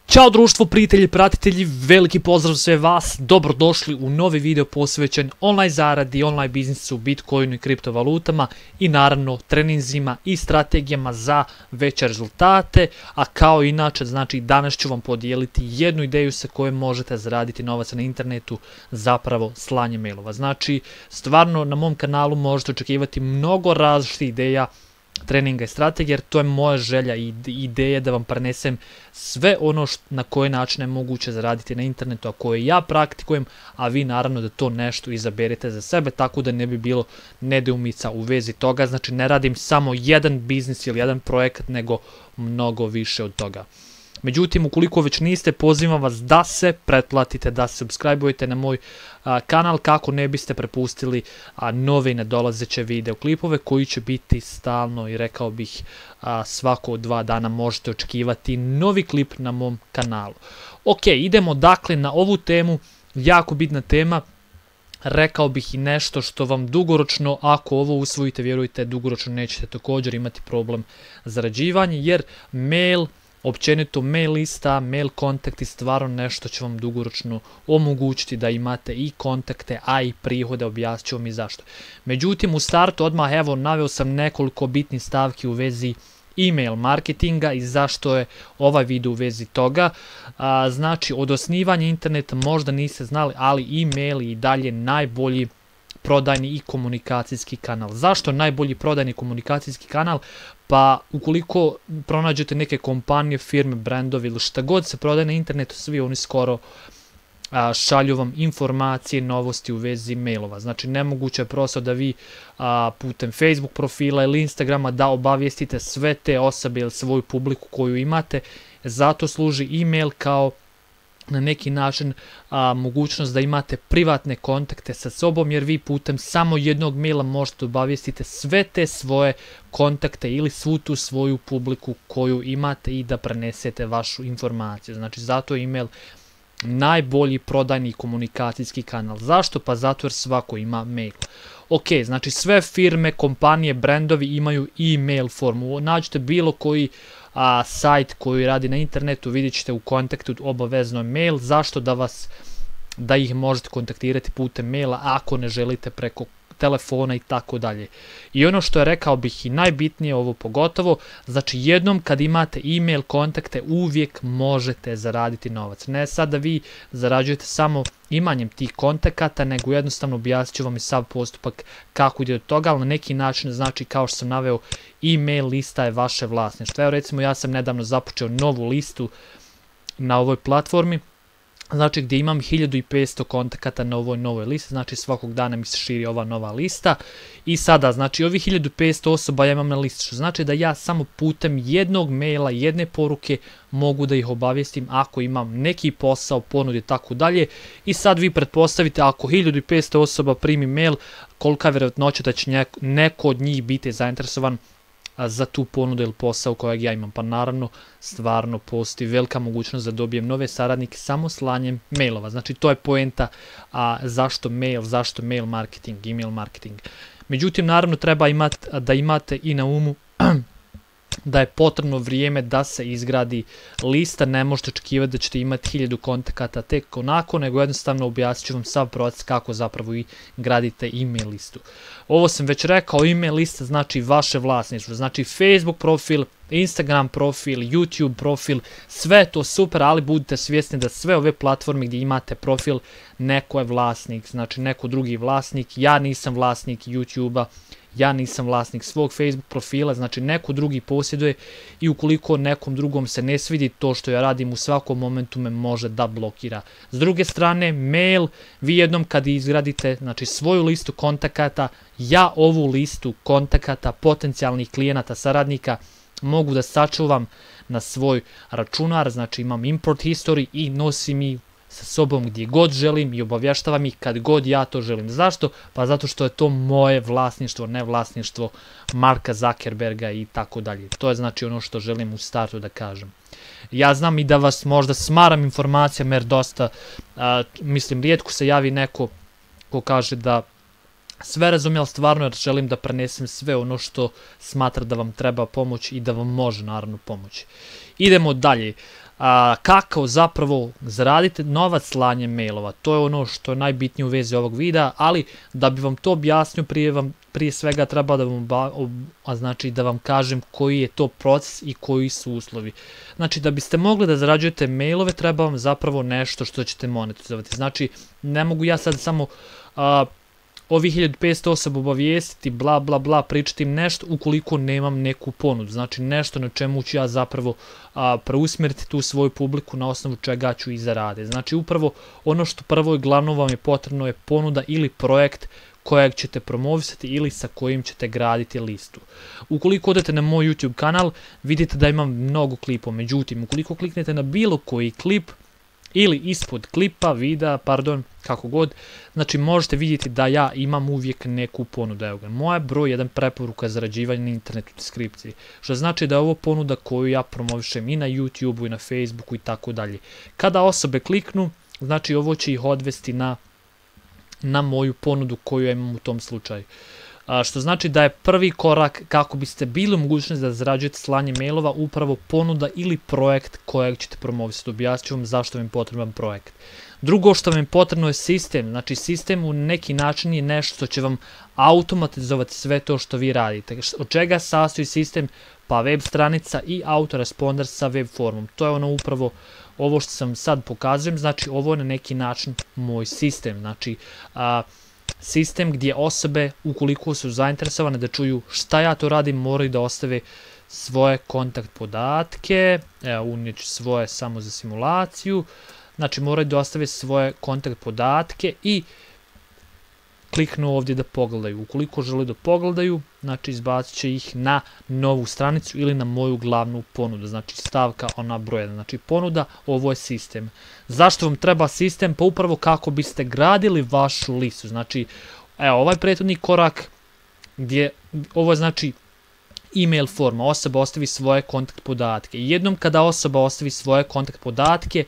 Ćao društvo, prijatelji, pratitelji, veliki pozdrav sve vas, dobrodošli u novi video posvećen online zaradi, online biznisu, bitcoinu i kriptovalutama i naravno treninzima i strategijama za veće rezultate, a kao inače, znači danas ću vam podijeliti jednu ideju sa kojom možete zaraditi novac na internetu, zapravo slanje mailova. Znači, stvarno na mom kanalu možete očekivati mnogo različitih ideja, treninga i strategije, jer to je moja želja i ideja da vam prenesem sve ono na koje načine je moguće zaraditi na internetu, a koje ja praktikujem, a vi naravno da to nešto izaberete za sebe, tako da ne bi bilo nedoumica u vezi toga. Znači ne radim samo jedan biznis ili jedan projekat, nego mnogo više od toga. Međutim, ukoliko već niste, pozivam vas da se pretplatite, da se subscribe-ujete na moj kanal kako ne biste prepustili nove i nedolazeće videoklipove koji će biti stalno i rekao bih svako od 2 dana možete očekivati novi klip na mom kanalu. Ok, idemo dakle na ovu temu, jako bitna tema. Rekao bih i nešto što vam dugoročno, ako ovo usvojite, vjerujte, dugoročno nećete također imati problem zarađivanja, jer mail, općenito mail lista, mail kontakti stvarno nešto će vam dugoročno omogućiti da imate i kontakte, a i prihode, objasnit ću vam i zašto. Međutim, u startu odmah evo naveo sam nekoliko bitnih stavki u vezi email marketinga i zašto je ovaj video u vezi toga. Znači, od osnivanja interneta možda niste znali, ali email je i dalje najbolji prodajni i komunikacijski kanal. Zašto najbolji prodajni komunikacijski kanal? Pa ukoliko pronađete neke kompanije, firme, brendovi ili šta god se prodaje na internetu, svi oni skoro šalju vam informacije, novosti u vezi mailova. Znači nemoguće je prosto da vi putem Facebook profila ili Instagrama da obavijestite sve te osobe ili svoju publiku koju imate. Zato služi email kao na neki način mogućnost da imate privatne kontakte sa sobom, jer vi putem samo jednog maila možete obavijestiti sve te svoje kontakte ili svu tu svoju publiku koju imate i da prenesete vašu informaciju. Znači zato je email najbolji prodajni komunikacijski kanal. Zašto? Pa zato jer svako ima mail. Ok, znači sve firme, kompanije, brendovi imaju e-mail formu. Nađite bilo koji sajt koji radi na internetu, vidjet ćete u kontaktu obavezno mail. Zašto? Da ih možete kontaktirati putem maila ako ne želite preko telefona i tako dalje. I ono što je rekao bih i najbitnije, ovo pogotovo, znači jednom kad imate e-mail kontakte uvijek možete zaraditi novac. Ne sad da vi zarađujete samo imanjem tih kontakata, nego jednostavno objasnit ću vam i sav postupak kako ide od toga, ali na neki način, znači kao što sam naveo, e-mail lista je vaše vlasništvo. Evo recimo ja sam nedavno započeo novu listu na ovoj platformi, znači gdje imam 1500 kontakata na ovoj novoj listi, znači svakog dana mi se širi ova nova lista i sada znači ovih 1500 osoba ja imam na listi, što znači da ja samo putem jednog maila, jedne poruke mogu da ih obavijestim ako imam neki posao, ponude i tako dalje. I sad vi pretpostavite ako 1500 osoba primi mail, kolika je vjerojatnoća da će neko od njih biti zainteresovan za tu ponudu ili posao kojeg ja imam. Pa naravno, stvarno postoji velika mogućnost da dobijem nove saradnike samo slanjem mailova. Znači to je poenta zašto mail marketing, email marketing. Međutim, naravno treba da imate i na umu da je potrebno vrijeme da se izgradi lista. Ne možete očekivati da ćete imati 1000 kontakata tek onako, nego jednostavno objasnit ću vam sav proces kako zapravo i gradite email listu. Ovo sam već rekao, email lista znači vaše vlasništvo, znači Facebook profil, Instagram profil, YouTube profil, sve to super, ali budite svjesni da sve ove platforme gdje imate profil, neko je vlasnik, znači neko drugi vlasnik. Ja nisam vlasnik YouTube-a, ja nisam vlasnik svog Facebook profila, znači neko drugi posjeduje i ukoliko nekom drugom se ne svidi to što ja radim, u svakom momentu me može da blokira. S druge strane, mail, vi jednom kad izgradite znači svoju listu kontakata, ja ovu listu kontakata potencijalnih klijenata, saradnika mogu da sačuvam na svoj računar, znači imam import history i nosim ih sa sobom gdje god želim i obavještavam ih kad god ja to želim. Zašto? Pa zato što je to moje vlasništvo, ne vlasništvo Marka Zuckerberga i tako dalje. To je znači ono što želim u startu da kažem. Ja znam i da vas možda smaram informacijama jer dosta, mislim, rijetko se javi neko ko kaže da sve razumije, ali stvarno jer želim da prenesem sve ono što smatra da vam treba pomoći i da vam može naravno pomoći. Idemo dalje. kako zapravo zaradite novac slanjem mailova. To je ono što je najbitnije u vezi ovog videa, ali da bi vam to objasnio prije svega treba da vam kažem koji je to proces i koji su uslovi. Znači da biste mogli da zarađujete mailove treba vam zapravo nešto što ćete monetizovati. Znači ne mogu ja sad samo ovih 1500 osoba obavijestiti, bla bla bla, pričati im nešto ukoliko nemam neku ponudu. Znači nešto na čemu ću ja zapravo preusmjeriti tu svoju publiku na osnovu čega ću i zaraditi. Znači upravo ono što prvo i glavno vam je potrebno je ponuda ili projekt kojeg ćete promovisati ili sa kojim ćete graditi listu. Ukoliko odete na moj YouTube kanal vidite da imam mnogo klipova, međutim ukoliko kliknete na bilo koji klip ili ispod klipa, videa, pardon, kako god, znači možete vidjeti da ja imam uvijek neku ponudu. Evo ga, moja broj 1 preporuka zarađivanja na internetu u deskripciji, što znači da je ovo ponuda koju ja promovišem i na YouTubeu i na Facebooku i tako dalje. Kada osobe kliknu, znači ovo će ih odvesti na moju ponudu koju ja imam u tom slučaju. Što znači da je prvi korak kako biste bili u mogućnosti da zarađujete slanje mailova upravo ponuda ili projekt kojeg ćete promovisati. Objasnit ću vam zašto vam je potreban projekt. Drugo što vam je potrebno je sistem. Znači sistem u neki način je nešto što će vam automatizovati sve to što vi radite. Od čega sastoji sistem? Pa web stranica i autoresponder sa web formom. To je ono upravo ovo što sam sad pokazujem. Znači ovo je na neki način moj sistem. Znači sistem gdje osobe, ukoliko su zainteresovane da čuju šta ja to radim, moraju da ostave svoje kontakt podatke. Evo, unijet ću svoje samo za simulaciju. Znači, moraju da ostave svoje kontakt podatke i kliknu ovdje da pogledaju. Ukoliko žele da pogledaju, znači izbacit će ih na novu stranicu ili na moju glavnu ponudu. Znači stavka ona broj 1. Znači ponuda, ovo je sistem. Zašto vam treba sistem? Pa upravo kako biste gradili vašu listu. Znači, evo ovaj prethodni korak gdje ovo je znači email forma. Osoba ostavi svoje kontakt podatke. Jednom kada osoba ostavi svoje kontakt podatke,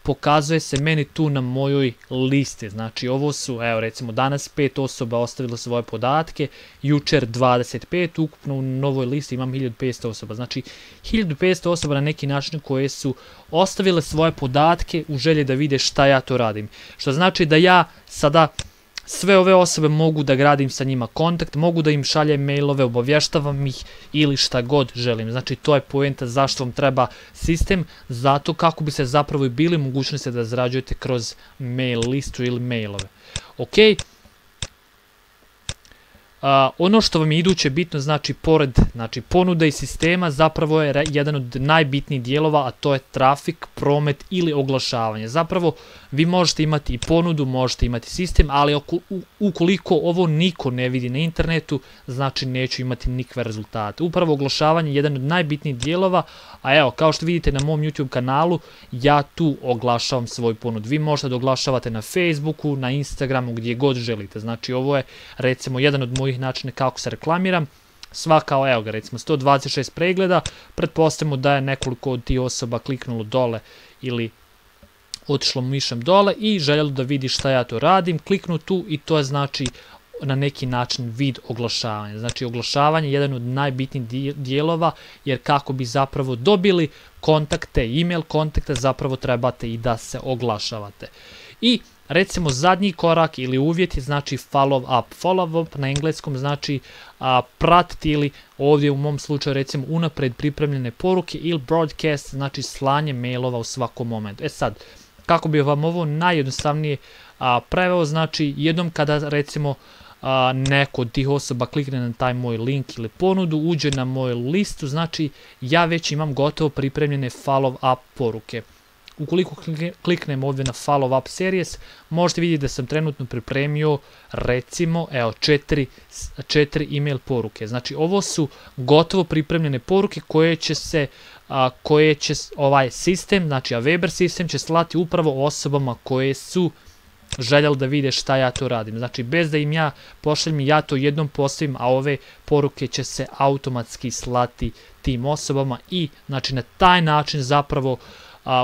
pokazuje se meni tu na mojoj listi. Znači ovo su, evo recimo danas 5 osoba ostavilo svoje podatke, jučer 25, ukupno u novoj listi imam 1500 osoba. Znači 1500 osoba na neki način koje su ostavile svoje podatke u želji da vide šta ja to radim. Što znači da ja sada sve ove osobe mogu da gradim sa njima kontakt, mogu da im šaljem mailove, obavještavam ih ili šta god želim. Znači to je poenta zašto vam treba sistem, zato kako bi se zapravo i bili mogućnosti da zarađujete kroz mail listu ili mailove. Ok. Ono što vam je iduće bitno, znači pored ponuda i sistema, zapravo je jedan od najbitnijih dijelova, a to je trafik, promet ili oglašavanje. Zapravo vi možete imati i ponudu, možete imati sistem, ali ukoliko ovo niko ne vidi na internetu, znači neću imati nikakve rezultate. Upravo oglašavanje je jedan od najbitnijih dijelova, a evo, kao što vidite na mom YouTube kanalu, ja tu oglašavam svoj ponud. Vi možete da oglašavate na Facebooku, na Instagramu, gdje god želite. Znači ovo je recimo jedan od mojih načina kako se reklamiram. Svaka, evo ga, recimo 126 pregleda, pretpostavimo da je nekoliko od tih osoba kliknulo dole ili otišlo mišem dole i željelo da vidi šta ja to radim, kliknu tu i to je znači na neki način vid oglašavanja. Znači oglašavanje je jedan od najbitnijih dijelova, jer kako bi zapravo dobili kontakte, email kontakte, zapravo trebate i da se oglašavate. I recimo zadnji korak ili uvjet je znači follow up. Follow up na engleskom znači pratiti ili ovdje u mom slučaju recimo unapred pripremljene poruke ili broadcast, znači slanje mailova u svakom momentu. E sad, kako bi vam ovo najjednostavnije preveo, znači jednom kada recimo neko od tih osoba klikne na taj moj link ili ponudu, uđe na moju listu, znači ja već imam gotovo pripremljene follow up poruke. Ukoliko kliknem ovdje na follow up series, možete vidjeti da sam trenutno pripremio recimo evo 4 email poruke. Znači ovo su gotovo pripremljene poruke koje će ovaj sistem, znači Weber sistem će slati upravo osobama koje su željeli da vide šta ja to radim. Znači bez da im ja pošaljem, ja to jednom postavim, a ove poruke će se automatski slati tim osobama i znači na taj način zapravo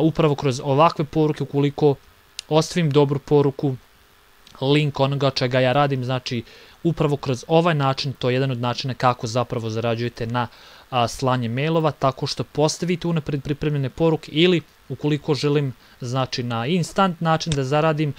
upravo kroz ovakve poruke, ukoliko ostavim dobru poruku, link onoga čega ja radim, znači upravo kroz ovaj način, to je jedan od načina kako zapravo zarađujete na slanje mailova, tako što postavite unapred pripremljene poruke ili ukoliko želim znači na instant način da zaradim,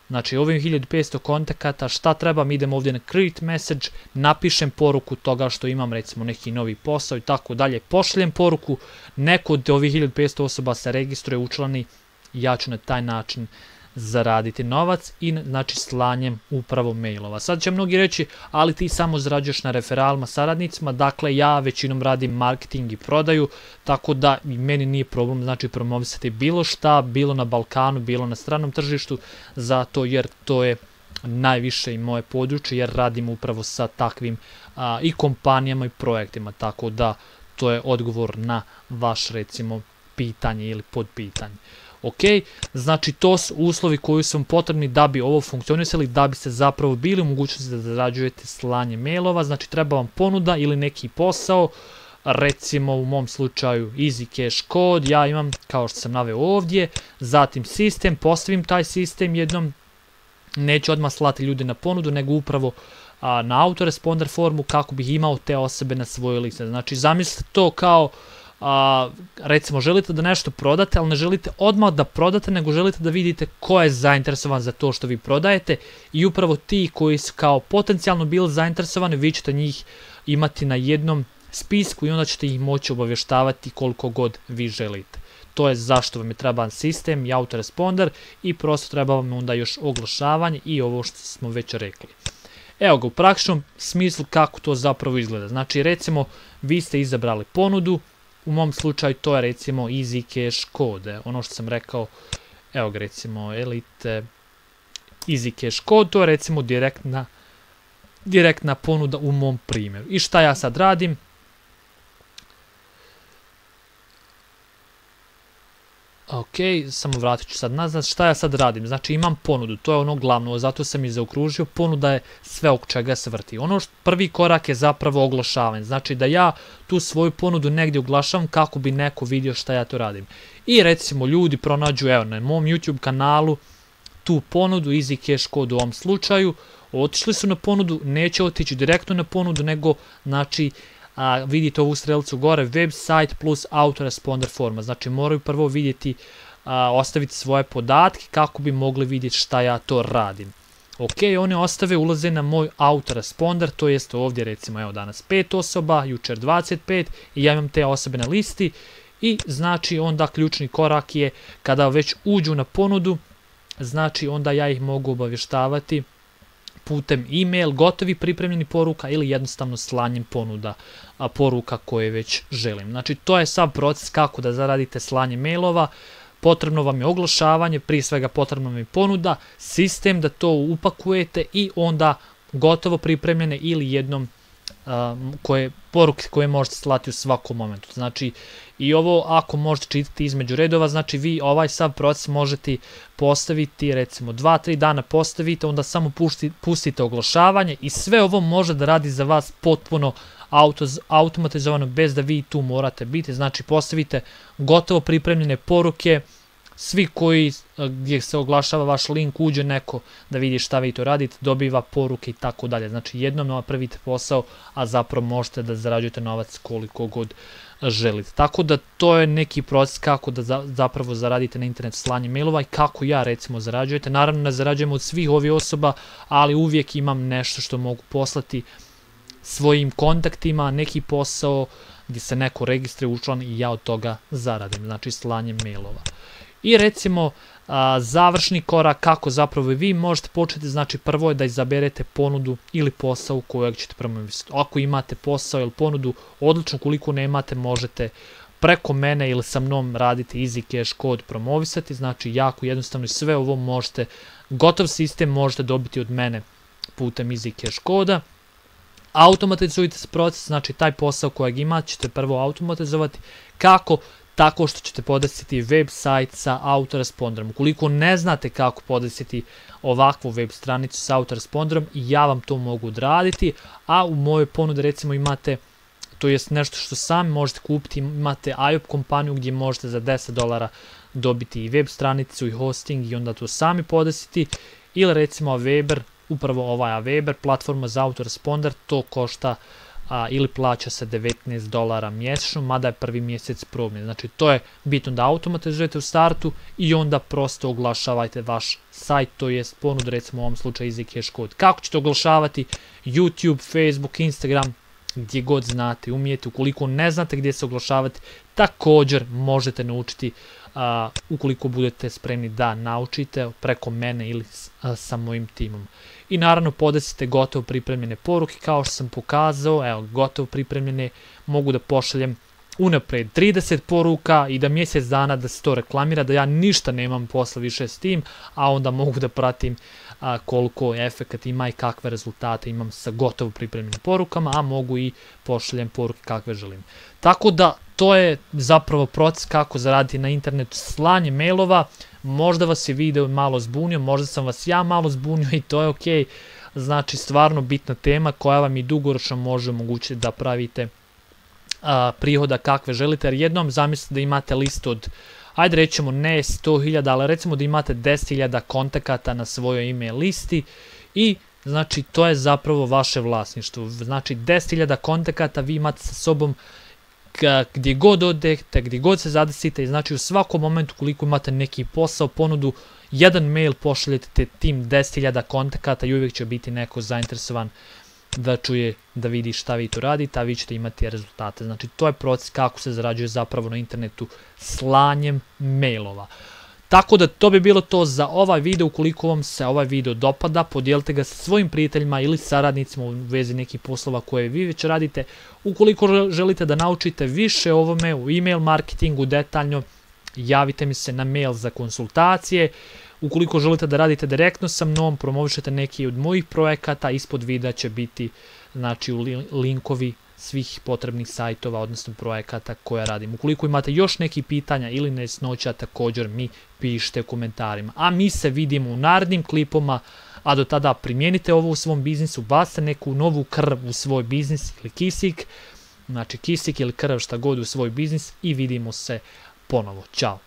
znači ovim 1500 kontakata, šta trebam, idem ovdje na create message, napišem poruku toga što imam recimo neki novi posao i tako dalje, pošaljem poruku, neko od ovih 1500 osoba se registruje, učlani, ja ću na taj način zaraditi novac i znači slanjem upravo mailova. Sad će mnogi reći, ali ti samo zarađuješ na referalima saradnicima, dakle ja većinom radim marketing i prodaju, tako da i meni nije problem znači promovisati bilo šta, bilo na Balkanu, bilo na stranom tržištu, zato jer to je najviše i moje područje, jer radim upravo sa takvim i kompanijama i projektima, tako da to je odgovor na vaš recimo pitanje ili podpitanje. Ok, znači to su uslovi koji su vam potrebni da bi ovo funkcionisali, da bi se zapravo bili u mogućnosti da zarađujete slanje mailova, znači treba vam ponuda ili neki posao, recimo u mom slučaju Easy Cash Code, ja imam kao što sam naveo ovdje, zatim sistem, postavim taj sistem jednom, neću odmah slati ljude na ponudu, nego upravo na autoresponder formu kako bih imao te osobe na svojoj listi. Znači zamislite to kao recimo želite da nešto prodate, ali ne želite odmah da prodate, nego želite da vidite ko je zainteresovan za to što vi prodajete i upravo ti koji su kao potencijalno bili zainteresovani, vi ćete njih imati na jednom spisku i onda ćete ih moći obavještavati koliko god vi želite. To je zašto vam je treban sistem i autoresponder i prosto treba vam onda još oglašavanje i ovo što smo već rekli. Evo ga u praktičnom smislu kako to zapravo izgleda. Znači recimo vi ste izabrali ponudu, u mom slučaju to je recimo Easy Cash Code, ono što sam rekao, evo ga recimo Elite Easy Cash Code, to je recimo direktna ponuda u mom primjeru. I šta ja sad radim? Ok, samo vratit ću sad nazad, šta ja sad radim? Znači imam ponudu, to je ono glavno, zato sam i zaokružio, ponuda je sve oko čega se vrti. Prvi korak je zapravo oglašavanje, znači da ja tu svoju ponudu negdje oglašavam kako bi neko vidio šta ja to radim. I recimo ljudi pronađu, evo na mom YouTube kanalu, tu ponudu, Easy Cash Code u ovom slučaju, otišli su na ponudu, neće otići direktno na ponudu, nego znači vidite ovu strelicu gore, website plus autoresponder forma, znači moraju prvo vidjeti, ostaviti svoje podatke kako bi mogli vidjeti šta ja to radim. Ok, one ostave, ulaze na moj autoresponder, to jest ovdje recimo evo danas 5 osoba, jučer 25 i ja imam te osobe na listi i znači onda ključni korak je kada već uđu na ponudu, znači onda ja ih mogu obavještavati putem e-mail, gotovi pripremljeni poruka ili jednostavno slanjem poruka koje već želim. Znači to je sav proces kako da zaradite slanje mailova, potrebno vam je oglašavanje, prije svega potrebno vam je ponuda, sistem da to upakujete i onda gotovo pripremljene ili jednom poruke koje možete slati u svakom momentu. Znači i ovo ako možete čitati između redova, znači vi ovaj sav proces možete postaviti recimo 2-3 dana postavite, onda samo pustite oglašavanje i sve ovo može da radi za vas potpuno automatizovano bez da vi tu morate biti. Znači postavite gotovo pripremljene poruke, svi koji gdje se oglašava vaš link uđe neko da vidi šta vi to radite, dobiva poruke i tako dalje. Znači jednom napravite posao, a zapravo možete da zarađujete novac koliko god želite. Tako da to je neki proces kako da zapravo zaradite na internetu slanje mailova i kako ja recimo zarađujete. Naravno ne zarađujem od svih ovih osoba, ali uvijek imam nešto što mogu poslati svojim kontaktima, neki posao gdje se neko registruje učlan i ja od toga zaradim, znači slanjem mailova. I recimo završni korak kako zapravo vi možete početi, znači prvo je da izaberete ponudu ili posao kojeg ćete promovisati. Ako imate posao ili ponudu, odlično, koliko nemate možete preko mene ili sa mnom raditi Easy Cash Code promovisati, znači jako jednostavno i sve ovo možete, gotov sistem možete dobiti od mene putem Easy Cash Code-a. Automatizujte se proces, znači taj posao kojeg imate ćete prvo automatizovati. Kako? Tako što ćete podesiti website sa autoresponderom. Ukoliko ne znate kako podesiti ovakvu web stranicu sa autoresponderom, ja vam to mogu odraditi, a u mojoj ponudi recimo imate, to jest nešto što sami možete kupiti, imate IOP kompaniju gdje možete za $10 dobiti i web stranicu i hosting i onda to sami podesiti ili recimo Weber, upravo ovaj Weber, platforma za autoresponder, to košta ili plaća se $19 mjesečno, mada je prvi mjesec probni. Znači to je bitno da automatizujete u startu i onda prosto oglašavajte vaš sajt, to jest ponud, recimo u ovom slučaju EasyCash kod. Kako ćete oglašavati? YouTube, Facebook, Instagram, gdje god znate, umijete. Ukoliko ne znate gdje se oglašavati, također možete naučiti ukoliko budete spremni da naučite preko mene ili sa mojim timom. I naravno podesite gotovo pripremljene poruke, kao što sam pokazao, evo gotovo pripremljene, mogu da pošaljem unaprijed 30 poruka i da mjesec dana da se to reklamira, da ja ništa nemam posla više s tim, a onda mogu da pratim koliko efekat ima i kakve rezultate imam sa gotovo pripremljenim porukama, a mogu i pošaljem poruke kakve želim. Tako da to je zapravo proces kako zaraditi na internetu, slanje mailova. Možda vas je video malo zbunio, možda sam vas ja malo zbunio i to je ok. Znači stvarno bitna tema koja vam i dugoročno može omogućiti da pravite prihoda kakve želite, jer jednom zamislite da imate list od, ajde rećemo ne 100.000, ali recimo da imate 10.000 kontakata na svojoj email listi i znači to je zapravo vaše vlasništvo. Znači 10.000 kontakata vi imate sa sobom gdje god odete, gdje god se zadesite i znači u svakom momentu koliko imate neki posao, ponudu, jedan mail pošaljete tim 10.000 kontakata i uvijek će biti neko zainteresovan da čuje, da vidi šta vi tu radite, a vi ćete imati rezultate. Znači to je proces kako se zarađuje zapravo na internetu slanjem mailova. Tako da to bi bilo to za ovaj video. Ukoliko vam se ovaj video dopada, podijelite ga sa svojim prijateljima ili saradnicima u vezi nekih poslova koje vi već radite. Ukoliko želite da naučite više o ovome, u email marketingu detaljno, javite mi se na mail za konsultacije. Ukoliko želite da radite direktno sa mnom, promovišete neki od mojih projekata, ispod videa će biti znači linkovi svih potrebnih sajtova, odnosno projekata koje radim. Ukoliko imate još neki pitanja ili nejasnoća, također mi pišite u komentarima. A mi se vidimo u narednim klipoma, a do tada primijenite ovo u svom biznisu, bacite neku novu krv u svoj biznis ili kisik, znači kisik ili krv šta god u svoj biznis i vidimo se ponovo. Ćao!